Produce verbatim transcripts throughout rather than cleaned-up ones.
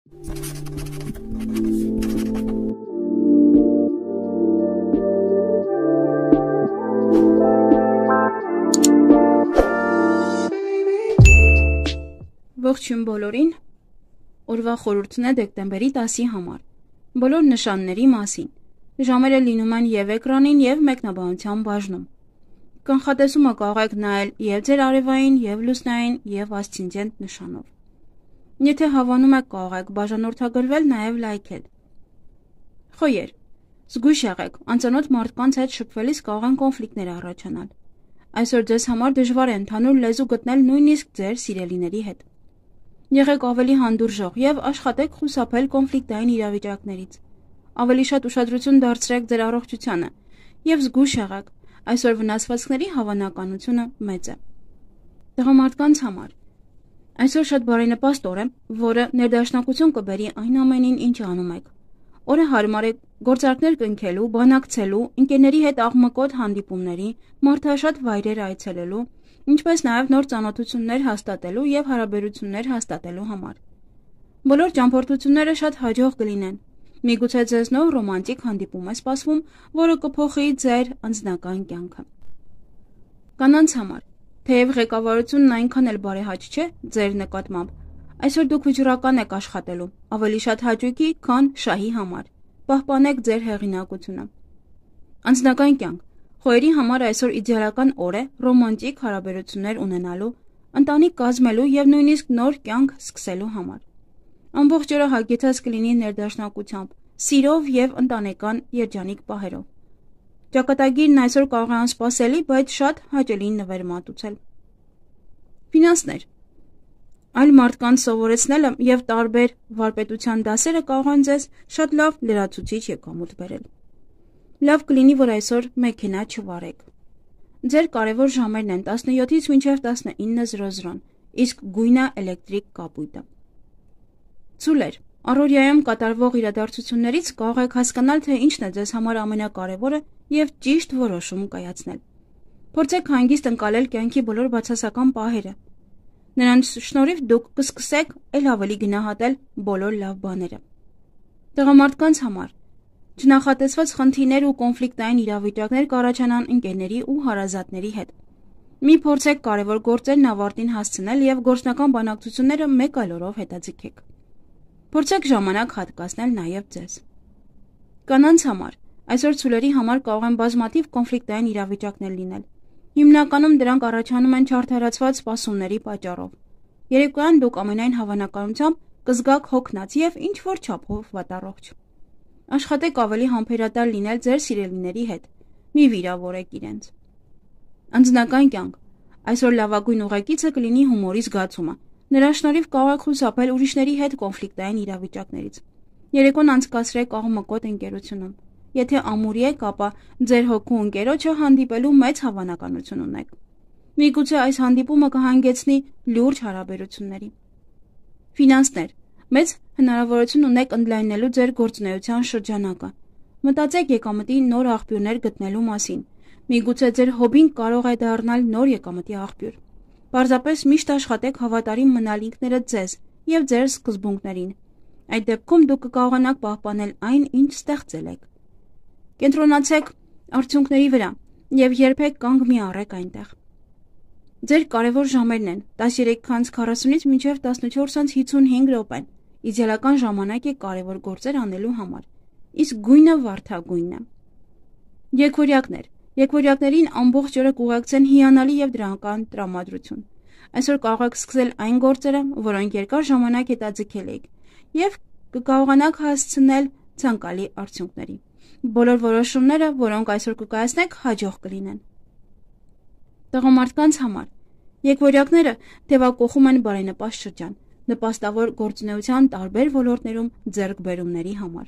Ողջույն բոլորին, օրվա խորհուրդն է դեկտեմբերի տասի համար, բոլոր նշանների մասին, ժամերը լինում են և էկրանին և մեկնաբանության բաժնում, կանխատեսումը կարող եք նայել և ձեր արևային, և լուսնային, և ասցենդենտ նշանով, եթե հավանում եք կարող եք բաժանորդագրվել նաև լայքել, խոյեր, զգույշ եղեք, անծանոթ մարդկանց հետ շփվելիս կարող են կոնֆլիկտներ առաջանալ, այսօր ձեզ համար դժվար է ընդհանուր լեզու գտնել նույնիսկ ձեր սիրելիների հետ, եղեք ավելի հանդուրժող և աշխատեք խուսափել կոնֆլիկտային իրավիճակներից, ավելի շատ ուշադրություն դարձրեք ձեր առողջությանը և զգույշ եղեք, այսօր վնասվածքների հավանականությունը մեծ է։ Տղամարդկանց համար այսօր շատ բարենպաստ օր է, որը ներդաշնակություն կբերի այն ամենին, ինչ անում եք։ Օրը հարմար է գործարքներ կնքելու, բանակցելու, ընկերների հետ աղմկոտ հանդիպումների, մարդաշատ վայրեր այցելելու, ինչպես նաև նոր ծանոթություններ հաստատելու և հարաբերություններ հաստատելու համար։ Բոլոր ճամփորդությունները շատ հաջող կլինեն։ Միգուցե ձեզ նոր ռոմանտիկ հանդիպում է սպասվում, որը կփոխի ձեր անձնական կյանքը։ Կանանց համար թեև ղեկավարությունն այնքան էլ բարեհաճ չէ ձեր նկատմամբ, այսօր դուք վճռական եք աշխատելու, ավելի շատ հաճույքի, քան շահի համար։ Պահպանեք ձեր հեղինակությունը։ Անձնական կյանք խոյերի համար այսօր իդեալական օր է ռոմանտիկ հարաբերություններ ունենալու, ընտանիք կազմելու և նույնիսկ նոր կյանք սկսելու համար։ Ամբողջ օրը հագեցած կլինի ներդաշնակությամբ, սիրով և ընտանեկան երջանիկ պահերով։ Ճակատագիրն այսօր կարող է անսպասելի, բայց շատ հաճելի նվեր մատուցել։ Ֆինանսներ այլ մարդկանց սովորեցնելը և տարբեր վարպետության դասերը կարող են ձեզ շատ լավ լրացուցիչ եկամուտ բերել։ Լավ կլինի, որ այսօր մեքենա չվարեք։ Ձեր կարևոր ժամերն են տասնյոթից մինչև տասնինը զրո զրո, իսկ գույնը էլեկտրիկ կապույտը։ Ցուլեր առօրյայում կատարվող իրադարձություններից կարող եք հասկանալ, թե ինչն է ձեզ համար ամենակարևորը և ճիշտ որոշում կայացնել։ Փորձեք հանգիստ ընկալել կյանքի բոլոր բացասական պահերը։ Նրանց շնորհիվ դուք կսկսեք ել ավելի գնահատել բոլոր լավ բաները։ Տղամարդկանց համար չնախատեսված խնդիրներ ու կոնֆլիկտային իրավիճակներ կառաջանան ընկերների ու հարազատների հետ։ Մի փորձեք կարևոր գործերն ավարտին հասցնել և գործնական բանակցությունները մեկ այլ օրով հետաձգեք։ Փորձեք ժամանակ հատկացնել նաև ձեզ։ Կանանց համար այսօր ցուլերի համար կարող են բազմաթիվ կոնֆլիկտային իրավիճակներ լինել։ Հիմնականում դրանք առաջանում են չարդարացված սպասումների պատճառով։ Երեկոյան դուք ամենայն հավանականությամբ կզգաք հոգնած և ինչ-որ չափով վատառողջ։ Աշխատեք ավելի համբերատար լինել ձեր սիրելիների հետ։ Մի վիրավորեք իրենց։ Անձնական կյանք այսօր լավագույն ուղեկիցը կլինի հումորի զգացումը։ Նրա շնորհիվ կարող եք խուսափել ուրիշների հետ կոնֆլիկտային իրավիճակներից։ Երեկոն անցկացրեք աղմկոտ ընկերությունում։ Եթե ամուրի եք, ապա ձեր հոգու ընկերոջը հանդիպելու մեծ հավանականություն ունեք։ Միգուցե այս հանդիպումը կհանգեցնի լուրջ հարաբերությունների։ Ֆինանսներ մեծ հնարավորություն ունեք ընդլայնելու ձեր գործունեության շրջանակը։ Մտածեք եկամտի նոր աղբյուրներ գտնելու մասին։ Միգուցե ձեր հոբին կարող է դառնալ նոր եկամտի աղբյուր։ Պարզապես միշտ աշխատեք հավատարիմ մնալ ինքներդ ձեզ և ձեր սկզբունքներին։ Այդ դեպքում դուք կկարողանաք պահպանել այն, ինչ ստեղծել եք։ Կենտրոնացեք արդյունքների վրա և երբեք կանգ մի առեք այնտեղ։ Ձեր կարևոր ժամերն են տասներեք քառասունից մինչև տասնչորս հինգսունհինգ րոպեն։ Իդեալական ժամանակ է կարևոր գործեր անելու համար, իսկ գույնը վարդագույնն է։ Եկվորյակներ Եկվորյակներին ամբողջ օրը կուղեկցեն հիանալի և դրական տրամադրություն։ Այսօր կարող եք սկսել այն գործերը, որոնք երկար ժամանակ հետաձգել եք, և կկարողանաք հասցնել ցանկալի արդյունքների։ Բոլոր որոշումները, որոնք այսօր կկայացնեք, հաջող կլինեն։ Տղամարդկանց համար եկվորյակները թևակողում են բարենպաստ շրջան, նպաստավոր գործունեության տարբեր ոլորտներում ձեռքբերումների համար։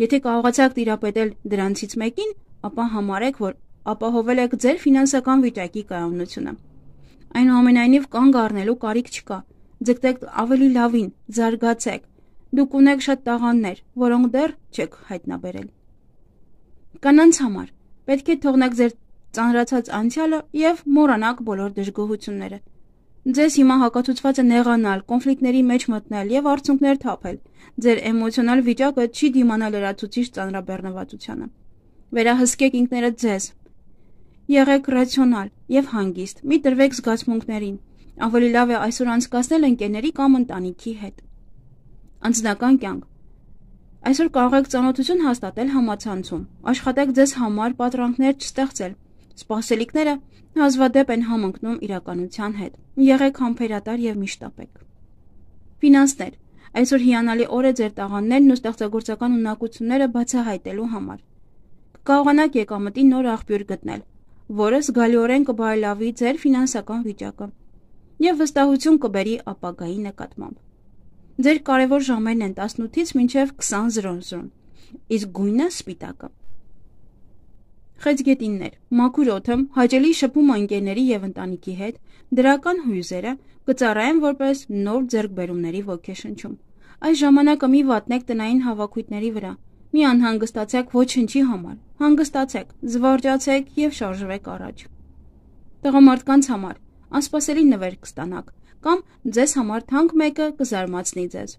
Եթե կարողացաք տիրապետել դրանցից մեկին, ապա համարեք, որ ապահովել եք ձեր ֆինանսական վիճակի կայունությունը։ Այնուամենայնիվ կանգ առնելու կարիք չկա։ Ձգտեք ավելի լավին, զարգացեք։ Դուք ունեք շատ տաղանդներ, որոնք դեռ չեք հայտնաբերել։ Կանանց համար պետք է թողնեք ձեր ծանրացած անցյալը և մոռանաք բոլոր դժգոհությունները։ Ձեզ հիմա հակացուցված է նեղանալ, կոնֆլիկտների մեջ մտնել եւ արդյունքներ թափել։ Ձեր էմոցիոնալ վիճակը չի դիմանա լրացուցիչ ծանրաբեռնվածությանը։ Վերահսկեք ինքներդ ձեզ։ Եղեք ռացիոնալ եւ հանգիստ, մի տրվեք զգացմունքներին։ Ավելի լավ է այսօր անցկացնել ընկերների կամ ընտանիքի հետ։ Անձնական կյանք։ Այսօր կարող եք ծանոթություն հաստատել համացանցում։ Աշխատեք ձեզ համար պատրանքներ չստեղծել։ Սպասելիքները հազվադեպ են համընկնում իրականության հետ։ Եղեք համբերատար եւ միշտապեկ։ Ֆինանսներ։ Այսօր հիանալի օր է ձեր տաղանդներն ու ստեղծագործական ունակությունները բացահայտելու համար։ Կկարողանաք եկամտի նոր աղբյուր գտնել, որը զգալիորեն կբարելավի ձեր ֆինանսական վիճակը եւ վստահություն կբերի ապագայի նկատմամբ։ Ձեր կարևոր ժամերն են տասնութից մինչև քսան զրոն, իսկ գույնը սպիտակը։ Խեցգետիններ, մաքուր օդը, հաճելի շփումը ընկերների եւ ընտանիքի հետ, դրական հույզերը կծառայեն որպես նոր ձեռքբերումների ոգեշնչում։ Այս ժամանակը մի վատնեք տնային հավաքույթների վրա։ Մի անհանգստացեք ոչնչի համար։ Հանգստացեք, զվարճացեք եւ շարժվեք առաջ։ Տղամարդկանց համար անսպասելի նվեր կստանաք կամ ձեզ համար թանկ մեկը կզարմացնի ձեզ։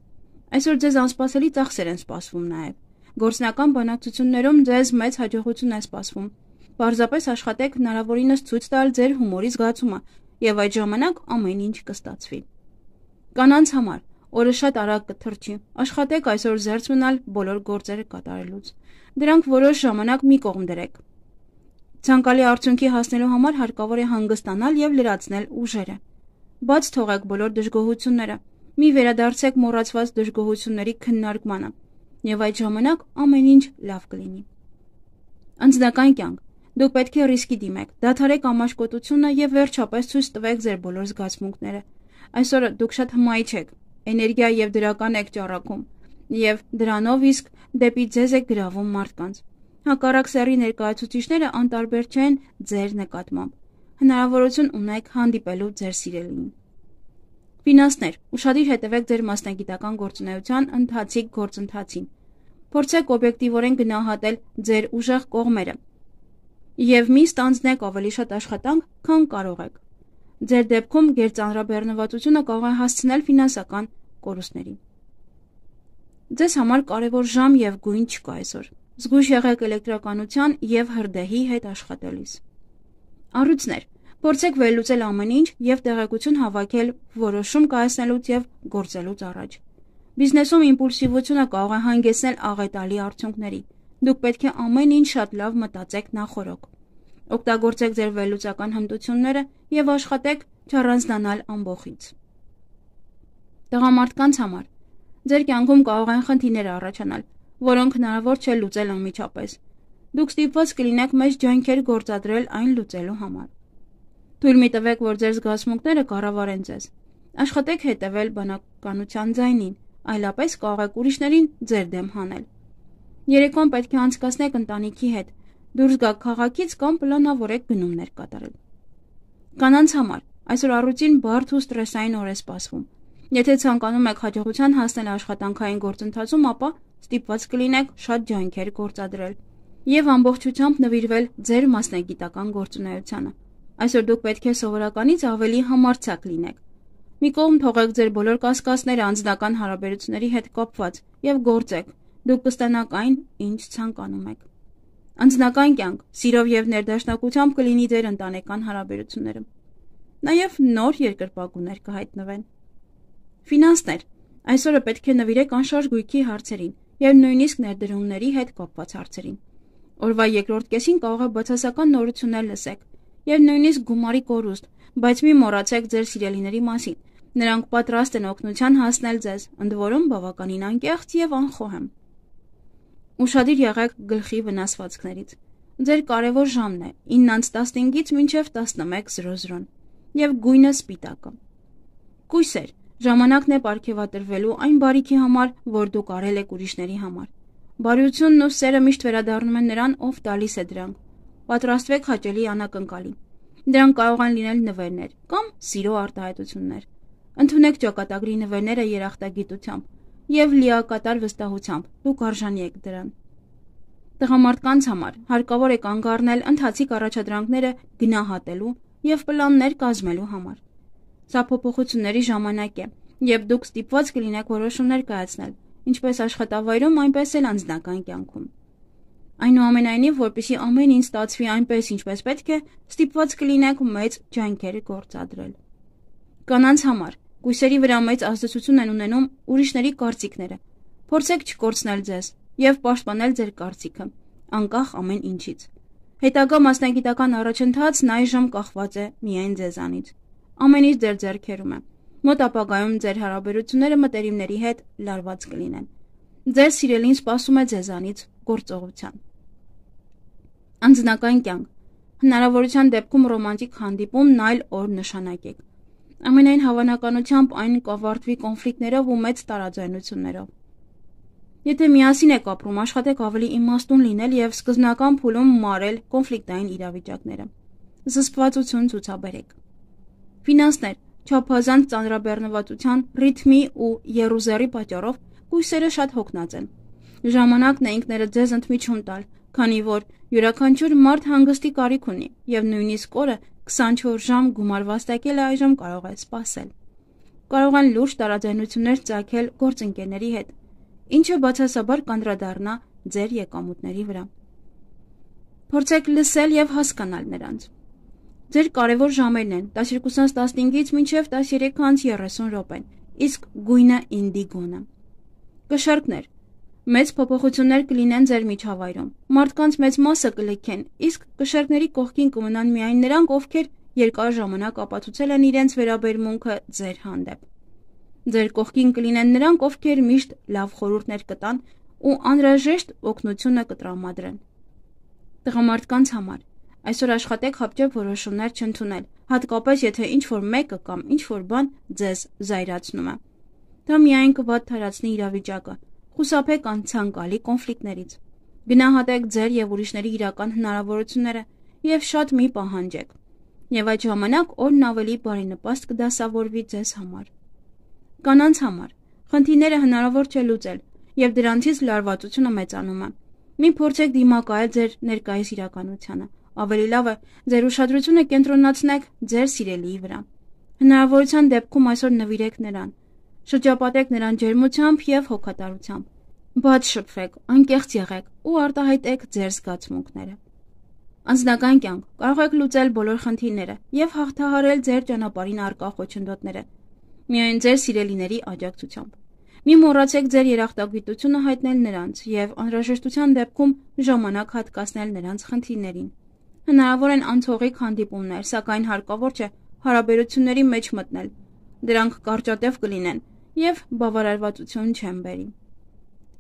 Այսօր ձեզ անսպասելի ծախսեր են սպասվում նաեւ։ Գործնական բանակցություններում ձեզ մեծ հաջողություն է սպասվում։ Պարզապես աշխատեք հնարավորինս ցույց տալ ձեր հումորի զգացումը եւ այդ ժամանակ ամեն ինչ կստացվի։ Կանանց համար օրը շատ արագ կթրջի։ Աշխատեք այսօր զերծ մնալ բոլոր գործերը կատարելուց։ Դրանք որոշ ժամանակ մի կողմ դրեք։ Ցանկալի արդյունքի հասնելու համար հարկավոր է հանգստանալ եւ լրացնել ուժերը։ Բաց թողեք բոլոր դժգոհությունները։ Մի վերադարձեք մոռացված դժգոհությունների քննարկմանը։ Եվ այդ ժամանակ ամեն ինչ լավ կլինի։ Անձնական կյանք։ Դուք պետք է ռիսկի դիմեք, դադարեք ամաչկոտությունը եւ վերջապես ցույց տվեք ձեր բոլոր զգացմունքները։ Այսօր դուք շատ հմայիչ եք, էներգիա եւ դրական եք ճառագում, եւ դրանով իսկ դեպի ձեզ եք գրավում մարդկանց։ Հակառակ սեռի ներկայացուցիչները անտարբեր չեն ձեր նկատմամբ։ Հնարավորություն ունեք հանդիպելու ձեր սիրելիին։ Ֆինանսներ։ Ուշադիր հետևեք ձեր մասնագիտական գործունեության ընթացիկ գործընթացին։ Փորձեք օբյեկտիվորեն գնահատել ձեր ուժեղ կողմերը եւ մի ստանձնեք ավելի շատ աշխատանք, քան կարող եք։ Ձեր դեպքում գերծանրաբեռնվածությունը կարող է հասցնել ֆինանսական կորուստների։ Ձեզ համար կարևոր ժամ եւ գույն չկա այսօր։ Զգույշ եղեք էլեկտրականության եւ հրդեհի հետ աշխատելիս։ Առույցներ։ Փորձեք վերլուծել ամեն ինչ եւ տեղեկություն հավաքել որոշում կայացնելուց եւ գործելուց առաջ։ Բիզնեսում իմպուլսիվությունը կարող է հանգեցնել աղետալի արդյունքների։ Դուք պետք է ամեն ինչ շատ լավ մտածեք նախօրոք։ Օգտագործեք ձեր վերլուծական հմտությունները եւ աշխատեք չառանձնանալ ամբողից։ Տղամարդկանց համար ձեր կյանքում կարող են խնդիրներ առաջանալ, որոնք հնարավոր չէ լուծել անմիջապես։ Դուք ստիպված կլինեք մեծ ջանքեր գործադրել այն լուծելու համար։ Թույլ մի տվեք, որ ձեր զգացմունքները կառավարեն ձեզ։ Աշխատեք հետևել բանականության ձայնին, այլապես կարող եք ուրիշներին ձեր դեմ հանել։ Երեկոն պետք է անցկացնեք ընտանիքի հետ, դուրս գաք քաղաքից կամ պլանավորեք գնումներ կատարել։ Կանանց համար այսօր առուտին բարդ ու ստրեսային օր է սպասվում։ Եթե ցանկանում եք հաջողության հասնել աշխատանքային գործընթացում, ապա ստիպված կլինեք շատ ջանքեր գործադրել եւ ամբողջությամբ նվիրվել ձեր մասնագիտական գործունեությանը։ Այսօր դուք պետք է սովորականից ավելի համարձակ լինեք։ Մի կողմ թողեք ձեր բոլոր կասկածները անձնական հարաբերությունների հետ կապված եւ գործեք։ Դուք կստանաք այն, ինչ ցանկանում եք։ Անձնական կյանք, սիրով եւ ներդաշնակությամբ կլինի ձեր ընտանեկան հարաբերությունները։ Նաեւ նոր երկրպագուներ կհայտնվեն։ Ֆինանսներ։ Այսօրը պետք է նվիրեք անշարժ գույքի հարցերին եւ նույնիսկ ներդրումների հետ կապված հարցերին։ Օրվա երկրորդ կեսին կարող է բացասական նորություններ լսեք եւ նույնիսկ գումարի կորուստ, բայց մի մոռացեք ձեր սիրելիների մասին։ Նրանք պատրաստ են օգնության հասնել ձեզ, ընդ որում բավականին անկեղծ եւ անխոհեմ։ Ուշադիր եղեք գլխի վնասվածքներից։ Ձեր կարևոր ժամն է ինը տասնհինգից մինչև տասնմեկ զրո եւ գույնը սպիտակը։ Կույսեր, ժամանակն է պարգևատրվելու այն բարիքի համար, որ դուք արել եք ուրիշների համար։ Բարությունն ու սերը միշտ վերադառնում են նրան, ով տալիս է դրանք։ Պատրաստվեք հաճելի անակնկալի։ Դրանք կարող են լինել նվերներ կամ սիրո արտահայտություններ։ Ընդունեք ճակատագրի նվերները երախտագիտությամբ եւ լիակատար վստահությամբ, դուք արժանի եք դրան։ Տղամարդկանց համար հարկավոր է կանգ առնել ընթացիկ առաջադրանքները գնահատելու եւ պլաններ կազմելու համար։ Սա փոփոխությունների ժամանակ է, եւ դուք ստիպված կլինեք որոշումներ կայացնել, ինչպես աշխատավայրում, այնպես էլ անձնական կյանքում։ Այնուամենայնիվ, որպեսզի ամեն ինչ ստացվի այնպես, ինչպես պետք է, ստիպված կլինեք մեծ ջանքեր գործադրել։ Կանանց համար կույսերի վրա մեծ ազդեցություն են ունենում ուրիշների կարծիքները։ Փորձեք չկորցնել ձեզ եւ պաշտպանել ձեր կարծիքը, անկախ ամեն ինչից։ Հետագա մասնագիտական առաջընթացն այժմ կախված է միայն ձեզանից։ Ամեն ինչ ձեր ձեռքերում է։ Մոտ ապագայում ձեր հարաբերությունները մտերիմների հետ լարված կլինեն։ Ձեր սիրելին սպասում է ձեզանից գործողության։ Անձնական կյանք։ Հնարավորության դեպքում ռոմանտիկ հանդիպումն այլ օր նշանակեք։ Ամենայն հավանականությամբ այն կավարտվի կոնֆլիկտներով ու մեծ տարաձայնություններով։ Եթե միասին եք ապրում, աշխատեք ավելի իմաստուն լինել եւ սկզբնական փուլում մարել կոնֆլիկտային իրավիճակները։ Զսպվածություն ցուցաբերեք։ Ֆինանսներ։ Չափազանց ծանրաբեռնվածության, ռիթմի ու եռուզեռի պատճառով կույսերը շատ հոգնած են։ Ժամանակն է ինքներդ ձեզ ընդմիջում տալ, քանի որ յուրաքանչյուր մարդ հանգստի կարիք ունի եւ նույնիսկ օրը քսանչորս ժամ գումար վաստակելը այժմ կարող է սպասել։ Կարող են լուրջ տարաձայնություններ ծագել գործընկերների հետ, ինչը բացասաբար կանդրադառնա ձեր եկամուտների վրա։ Փորձեք լսել եւ հասկանալ նրանց։ Ձեր կարևոր ժամերն են տասներկուսից տասնհինգից մինչև տասներեքից երեսուն րոպեն, իսկ գույնը ինդիգոնը։ Կշեռքներ։ Մեծ փոփոխություններ կլինեն ձեր միջավայրում։ Մարդկանց մեծ մասը կլքեն, իսկ կշեռքների կողքին կմնան միայն նրանք, ովքեր երկար ժամանակ ապացուցել են իրենց վերաբերմունքը ձեր հանդեպ։ Ձեր կողքին կլինեն նրանք, ովքեր միշտ լավ խորհուրդներ կտան ու անհրաժեշտ օգնությունը կտրամադրեն։ Տղամարդկանց համար այսօր աշխատեք հապճեպ որոշումներ չընդունել, հատկապես եթե ինչ-որ մեկը կամ ինչ-որ բան ձեզ զայրացնում է։ Դա միայն կվատթարացնի իրավիճակը, խուսափեք անցանկալի կոնֆլիկտներից։ Գնահատեք ձեր եւ ուրիշների իրական հնարավորությունները եւ շատ մի պահանջեք։ Եվ այդ ժամանակ օրն ավելի բարենպաստ կդասավորվի ձեզ համար։ Կանանց համար խնդիրները հնարավոր չէ լուծել եւ դրանցից լարվածությունը մեծանում է։ Մի փորձեք դիմակայել ձեր ներկայիս իրականությանը։ Ավելի լավ է ձեր ուշադրությունը կենտրոնացնեք ձեր սիրելիի վրա։ Հնարավորության դեպքում այսօր նվիրեք նրան։ Շրջապատեք նրան ջերմությամբ եւ հոգատարությամբ։ Բաց շփվեք, անկեղծ եղեք ու արտահայտեք ձեր զգացմունքները։ Անձնական կյանք։ Կարող եք լուծել բոլոր խնդիրները եւ հաղթահարել ձեր ճանապարհին առկա խոչընդոտները։ Միայն ձեր սիրելիների աջակցությամբ։ Մի մոռացեք ձեր երախտագիտությունը հայտնել նրանց եւ անհրաժեշտության դեպքում ժամանակ հատկացնել նրանց խնդիրներին։ Հնարավոր են անցողիկ հանդիպումներ, սակայն հարկավոր չէ հարաբերությունների մեջ մտնել։ Դրանք կարճատև կլինեն եւ բավարարվածություն չեն բերի։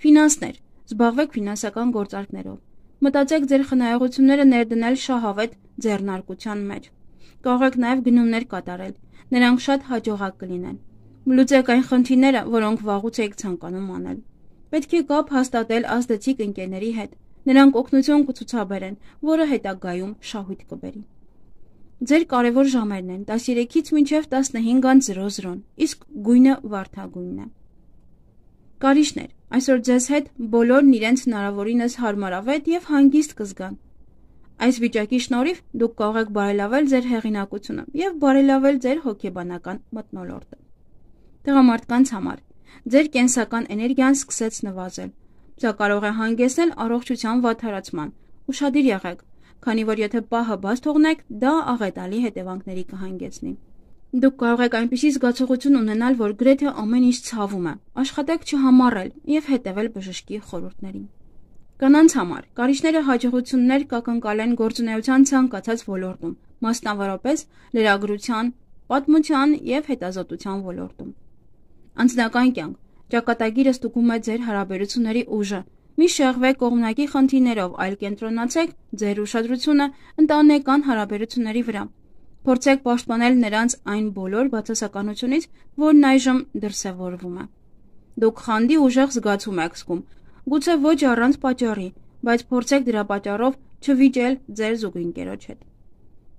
Ֆինանսներ։ Զբաղվեք ֆինանսական գործարքներով։ Մտածեք ձեր խնայողությունները ներդնել շահավետ ձեռնարկության մեջ։ Կարող եք նաեւ գնումներ կատարել։ Նրանք շատ հաջողակ կլինեն։ Լուծեք այն խնդիրները, որոնք վաղուց եք ցանկանում անել։ Պետք է կապ հաստատել ազդեցիկ ընկերների հետ։ Նրանք օգնություն կցուցաբերեն, որը հետագայում շահույթ կբերի։ Ձեր կարևոր ժամերն են տասներեքից մինչև տասնհինգ, իսկ գույնը վարդագույնն է։ Կարիճներ, այսօր ձեզ հետ բոլորն իրենց հնարավորինս հարմարավետ եւ հանգիստ կզգան։ Այս վիճակի շնորհիվ դուք կարող եք բարելավել ձեր հեղինակությունը եւ բարելավել ձեր հոգեբանական մթնոլորտը։ Տղամարդկանց համար ձեր կենսական էներգիան սկսեց նվազել։ Սա կարող է հանգեցնել առողջության վատթարացման։ Ուշադիր եղեք, քանի որ եթե պահը բաց թողնեք, դա աղետալի հետևանքների կհանգեցնի։ Դուք կարող եք այնպիսի զգացողություն ունենալ, որ գրեթե ամեն ինչ ցավում է։ Աշխատեք չհամառել եւ հետեւել բժշկի խորհուրդներին։ Կանանց համար կարիճները հաջողություններ կակնկալեն գործունեության ցանկացած ոլորտում, մասնավորապես լրագրության, պատմության եւ հետազոտության ոլորտում։ Անձնական կյանք։ Ճակատագիրը ստուգում է ձեր հարաբերությունների ուժը։ Մի շեղվեք կողմնակի խնդիրներով, այլ կենտրոնացեք ձեր ուշադրությունը ընտանեկան հարաբերությունների վրա։ Փորձեք պաշտպանել նրանց այն բոլոր բացասականությունից, որն այժմ դրսևորվում է։ Դուք խանդի ուժեղ զգացում եք զգում, գուցե ոչ առանց պատճառի, բայց փորձեք դրա պատճառով չվիճել ձեր զուգընկերոջ հետ։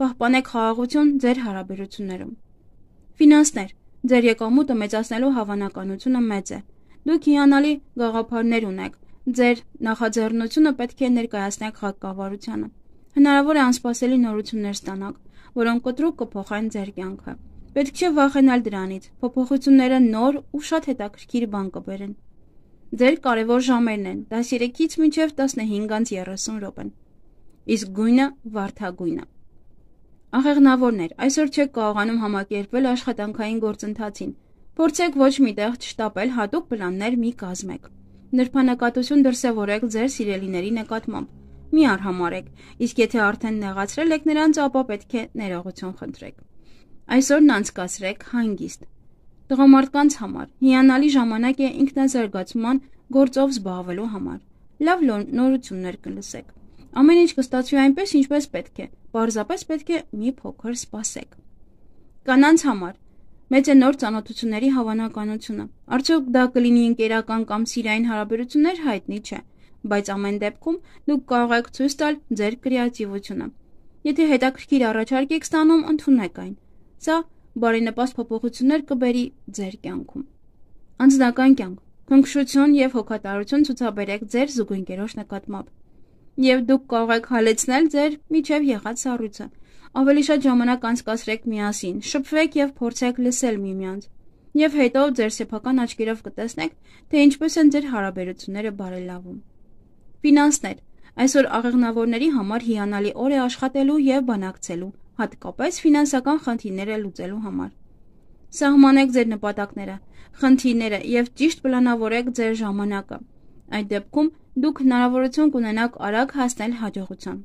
Պահպանեք խաղաղություն ձեր հարաբերություններում։ Ֆինանսներ։ Ձեր եկամուտը մեծացնելու հավանականությունը մեծ է։ Դուք հիանալի գաղափարներ ունեք։ Ձեր նախաձեռնությունը պետք է ներկայացնեք ղեկավարությանը։ Հնարավոր է անսպասելի նորություններ ստանաք, որոնք կտրուկ կփոխեն ձեր կյանքը։ Պետք չէ վախենալ դրանից, փոփոխությունները նոր ու շատ հետաքրքիր բան կբերեն։ Ձեր կարևոր ժամերն են տասներեքից մինչև տասնհինգ րոպեն։ Իսկ գույնը վարդագույնը։ Աղեղնավորներ, այսօր չեք կարողանում համակերպվել աշխատանքային գործընթացին։ Փորձեք ոչ միտեղ չշտապել հատուկ պլաններ մի կազմեք։ Նրբանկատություն դրսևորեք ձեր սիրելիների նկատմամբ։ Մի արհամարեք, իսկ եթե արդեն նեղացրել եք նրանց, ապա պետք է ներողություն խնդրեք։ Այսօրն անցկացրեք հանգիստ։ Տղամարդկանց համար հիանալի ժամանակ է ինքնազարգացման գործով զբաղվելու համար։ Լավ նորություններ կլսեք։ Ամեն ինչ կստացվի այնպես, ինչպես պետք է, պարզապես պետք է մի փոքր սպասեք։ Կանանց համար մեծ է նոր ծանոթությունների հավանականությունը։ Արդյոք դա կլինի ընկերական կամ սիրային հարաբերություններ, հայտնի չէ, բայց ամեն դեպքում դուք կարող եք ցույց տալ ձեր կրեատիվությունը։ Եթե հետաքրքիր առաջարկ եք ստանում, ընդունեք այն։ Սա բարենպաստ փոփոխություններ կբերի ձեր կյանքում։ Անձնական կյանք, քնքշություն եւ հոգատարություն ցուցաբերեք ձեր զուգընկերոջ նկատմամբ։ Եվ դուք կարող եք հալեցնել ձեր միջև եղած սառույցը։ Ավելի շատ ժամանակ անցկացրեք միասին, շփվեք եւ փորձեք լսել միմյանց։ Եվ հետո ձեր սեփական աչքերով կտեսնեք, թե ինչպես են ձեր հարաբերությունները բարելավում։ Ֆինանսներ, այսօր աղեղնավորների համար հիանալի օր է աշխատելու եւ բանակցելու, հատկապես ֆինանսական խնդիրները լուծելու համար։ Սահմանեք ձեր նպատակները, խնդիրները եւ ճիշտ պլանավորեք ձեր ժամանակը։ Այդ դեպքում դուք հնարավորություն կունենաք արագ հասնել հաջողության։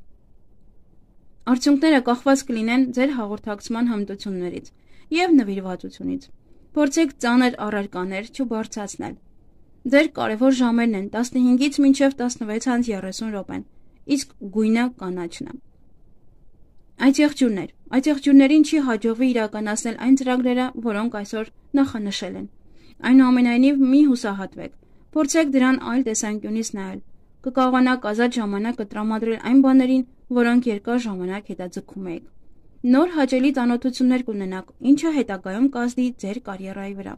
Արդյունքները կախված կլինեն ձեր հաղորդակցման հմտություններից եւ նվիրվածությունից։ Փորձեք ծանր առարկաներ չբարձրացնել։ Ձեր կարևոր ժամերն են տասնհինգից մինչև տասնվեց րոպեն, իսկ գույնը կանաչն է։ Այդ եղջյուրներ, այդ եղջյուրներին չի հաջողվի իրականացնել այն ծրագրերը, որոնք այսօր նախանշել են։ Այնուամենայնիվ մի հուսահատվեք, փորձեք դրան այլ տեսանկյունից նայել։ Կկարողանաք ազատ ժամանակը տրամադրել այն բաներին, որոնք երկար ժամանակ հետաձգում եք։ Նոր հաճելի ծանոթություններ կունենաք, ինչը հետագայում կազդի ձեր կարիերայի վրա։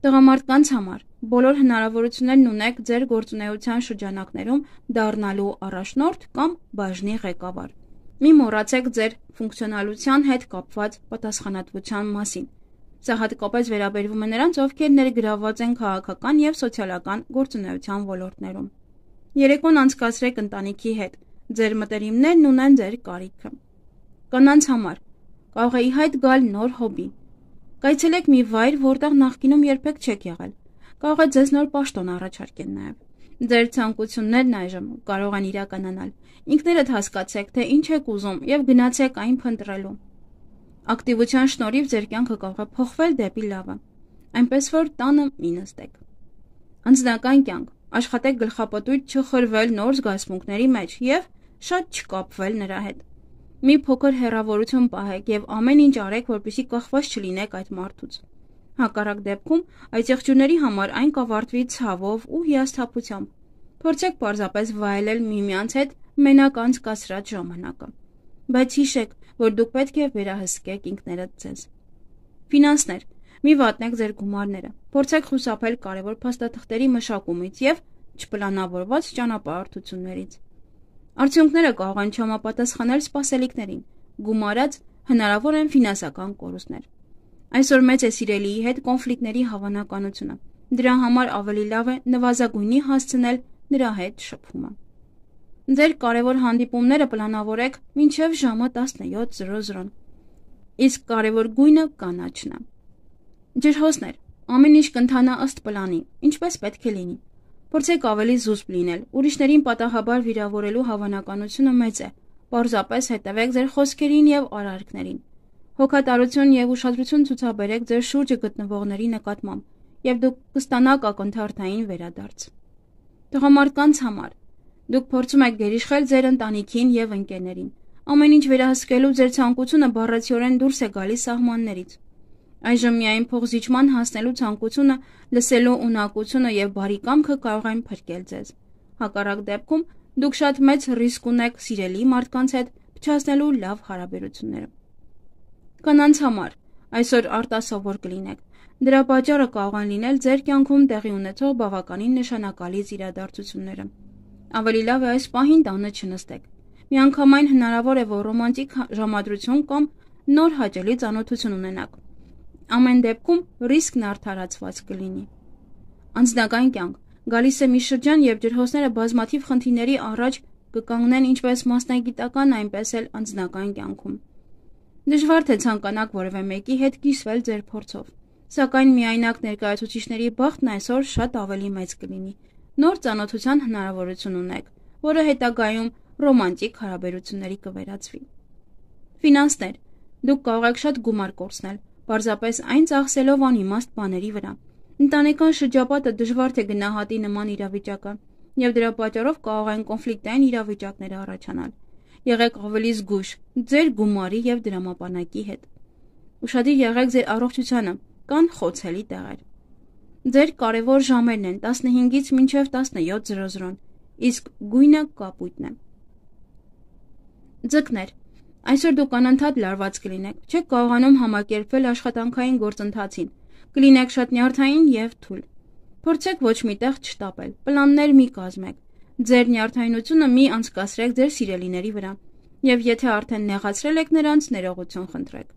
Տղամարդկանց համար բոլոր հնարավորություններն ունեք ձեր գործունեության շրջանակներում դառնալու առաջնորդ կամ բաժնի ղեկավար։ Մի մոռացեք ձեր ֆունկցիոնալության հետ կապված պատասխանատվության մասին։ Սա հատկապես վերաբերվում է նրանց, ովքեր ներգրավված են քաղաքական եւ սոցիալական գործունեության ոլորտներում։ Երեկոն անցկացրեք ընտանիքի հետ։ Ձեր մտերիմներն ունեն ձեր կարիքը։ Կանանց համար կարող է ի հայտ գալ նոր հոբի։ Կայցելեք մի վայր, որտեղ նախկինում երբեք չեք եղել։ Կարող է ձեզ նոր պաշտոն առաջարկեն նաև։ Ձեր ցանկություններն այժմ կարող են իրականանալ։ Ինքներդ հասկացեք, թե ինչ եք ուզում եւ գնացեք այն փնտրելու։ Ակտիվության շնորհիվ ձեր կյանքը կարող է փոխվել դեպի լավը, այնպես որ տանը մի նստեք։ Անձնական կյանք, աշխատեք գլխապտույտ չխրվել նոր զգացմունքների մեջ եւ շատ չկապվել նրա հետ։ Մի փոքր հեռավորություն պահեք եւ ամեն ինչ արեք, որպեսզի կախված չլինեք այդ մարդուց։ Հակառակ դեպքում այդ եղջյուրների համար այն կավարտվի ցավով ու հիասթափությամբ։ Փորձեք պարզապես վայելել միմյանց հետ մենակ անցկացրած ժամանակը։ Բայց հիշեք, որ դուք պետք է վերահսկեք ինքներդ ձեզ։ Ֆինանսներ, մի վատնեք ձեր գումարները։ Փորձեք խուսափել կարևոր փաստաթղթերի մշակումից եւ չպլանավորված ճանապարհորդություններից։ Արդյունքները կարող են չհամապատասխանել սպասելիքներին։ Գումարած հնարավոր են ֆինանսական կորուստներ։ Այսօր մեծ է սիրելիի հետ կոնֆլիկտների հավանականությունը։ Դրա համար ավելի լավ է նվազագույնի հասցնել նրա հետ շփումը։ Ձեր կարևոր հանդիպումները պլանավորեք մինչև ժամը տասնյոթ։ Իսկ կարևոր գույնը կանաչն է։ Ջրհոսներ, ամեն ինչ կընթանա ըստ պլանի, ինչպես պետք է լինի։ Փորձեք ավելի զուսպ լինել, ուրիշներին պատահաբար վիրավորելու հավանականությունը մեծ է։ Պարզապես հետևեք ձեր խոսքերին եւ արարքներին։ Հոգատարություն եւ ուշադրություն ցուցաբերեք ձեր շուրջը գտնվողների նկատմամբ, եւ դուք կստանաք ակնթարթային վերադարձ։ Տղամարդկանց համար դուք փորձում եք գերիշխել ձեր ընտանիքին եւ ընկերներին։ Ամեն ինչ վերահսկելու ձեր ցանկությունը բառացիորեն դուրս է գալիս սահմաններից։ Այժմ միայն փոխզիջման հասնելու ցանկությունը, լսելու ունակությունը եւ բարի կամքը կարող են փրկել ձեզ։ Հակառակ դեպքում դուք շատ մեծ ռիսկ ունեք սիրելի մարդկանց հետ փչացնելու լավ հարաբերությունները։ Կանանց համար այսօր արտասովոր կլինեք։ Դրա պատճառը կարող են լինել ձեր կյանքում տեղի ունեցող բավականին նշանակալից իրադարձությունները։ Ավելի լավ է այս պահին տանը չնստեք։ Միանգամայն հնարավոր է, որ ռոմանտիկ ժամադրություն կամ նոր հաճելի ծանոթություն ունենաք։ Ամեն դեպքում ռիսկն արդարացված կլինի։ Անձնական կյանք։ Գալիս է մի շրջան, երբ ջրհոսները բազմաթիվ խնդիրների առաջ կկանգնեն ինչպես մասնագիտական, այնպես էլ անձնական կյանքում։ Դժվար թե ցանկանաք որևէ մեկի հետ կիսվել ձեր փորձով, սակայն միայնակ ներկայացուցիչների բախտն այսօր շատ ավելի մեծ կլինի։ Նոր ծանոթության հնարավորություն ունեք, որը հետագայում ռոմանտիկ հարաբերությունների կվերածվի։ Ֆինանսներ։ Դուք կարող եք շատ գումար կորցնել, պարզապես այն ծախսելով անիմաստ բաների վրա։ Ընտանեկան շրջապատը դժվար թե գնահատի նման իրավիճակը, եւ դրա պատճառով կարող են կոնֆլիկտային իրավիճակներ առաջանալ։ Եղեք ավելի զգույշ ձեր գումարի եւ դրամապանակի հետ։ Ուշադիր եղեք ձեր առողջությանը, կան խոցելի տեղեր։ Ձեր կարևոր ժամերն են տասնհինգից մինչև տասնյոթ զրոզրոն, իսկ գույնը կապույտն է։ Ձկներ։ Այսօր դուք անընդհատ լարված կլինեք, չեք կարողանում համակերպվել աշխատանքային գործընթացին, կլինեք շատ նյարդային եւ թույլ։ Փորձեք ոչ միտեղ չտապել, պլաններ մի կազմեք, ձեր նյարդայնությունը մի անցկացրեք ձեր սիրելիների վրա, եւ եթե արդեն նեղացրել եք նրանց, ներողություն խնդրեք։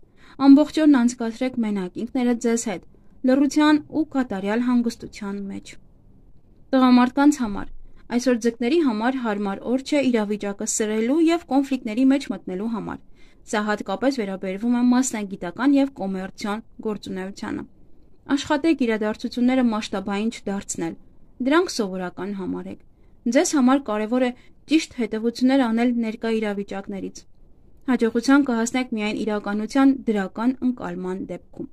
Ամբողջ օրն անցկացրեք մենակ ինքներդ ձեզ հետ, լռության ու կատարյալ հանգստության մեջ։ Տղամարդկանց համար այսօր ձկների համար հարմար օր չէ իրավիճակը սրելու եւ կոնֆլիկտների մեջ մտնելու համար։ Սա հատկապես վերաբերվում է մասնագիտական եւ կոմերցիոն գործունեությանը։ Աշխատեք իրադարձությունները մասշտաբային չդարձնել, դրանք սովորական համարեք։ Ձեզ համար կարևոր է ճիշտ հետևություններ անել ներկա իրավիճակներից։ Հաջողության կհասնեք միայն իրականության դրական ընկալման դեպքում։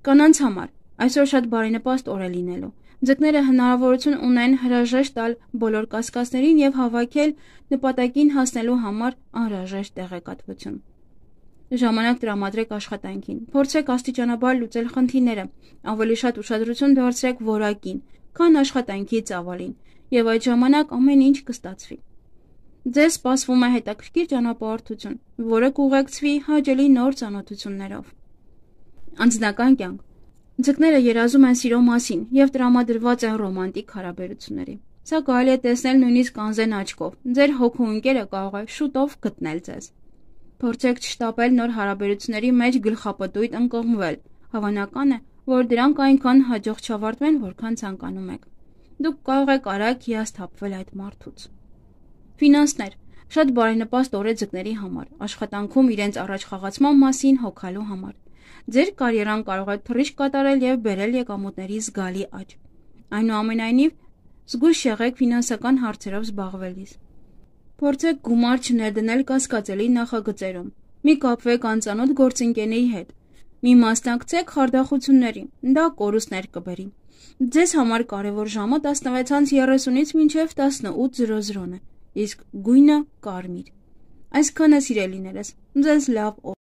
Կանանց համար այսօր շատ բարենպաստ օր է լինելու։ Ձկները հնարավորություն ունեն հրաժեշտ տալ բոլոր կասկածներին եւ հավաքել նպատակին հասնելու համար անհրաժեշտ տեղեկատվություն։ Ժամանակ տրամադրեք աշխատանքին, փորձեք աստիճանաբար լուծել խնդիրները, ավելի շատ ուշադրություն դարձրեք որակին, քան աշխատանքի ծավալին, եւ այդ ժամանակ ամեն ինչ կստացվի։ Ձեզ սպասվում է հետաքրքիր ճանապարհորդություն, որը կուղեկցվի հաճելի նոր ծանոթություններով։ Անձնական կյանք։ Ձկները երազում են սիրո մասին եւ տրամադրված են ռոմանտիկ հարաբերությունների։ Սա կարելի է տեսնել նույնիսկ անզեն աչքով։ Ձեր հոգու ընկերը կարող է շուտով գտնել ձեզ։ Փորձեք չշտապել նոր հարաբերությունների մեջ գլխապտույտ ընկղմվել։ Հավանական է, որ դրանք այնքան հաջող չավարտվեն, որքան ցանկանում եք։ Դուք կարող եք արագ հիասթափվել այդ մարդուց։ Ֆինանսներ։ Շատ բարենպաստ օր է ձկների համար, աշխատանքում իրենց առաջխաղացման մասին հոգալու համար։ Ձեր կարիերան կարող է թռիչք կատարել եւ բերել եկամուտների զգալի աճ։ Այնուամենայնիվ, զգույշ եղեք ֆինանսական հարցերով զբաղվելիս։ Փորձեք գումար չներդնել կասկածելի նախագծերում։ Մի կապվեք անծանոթ գործընկերների հետ։ Մի մասնակցեք խարդախությունների, դա կորուստներ կբերի։ Ձեզ համար կարևոր ժամը տասնվեցից երեսունից մինչև տասնութ զրոզրոն է, իսկ գույնը կարմիր։ Այսքանը սիրելիներս, ձեզ լավ օր։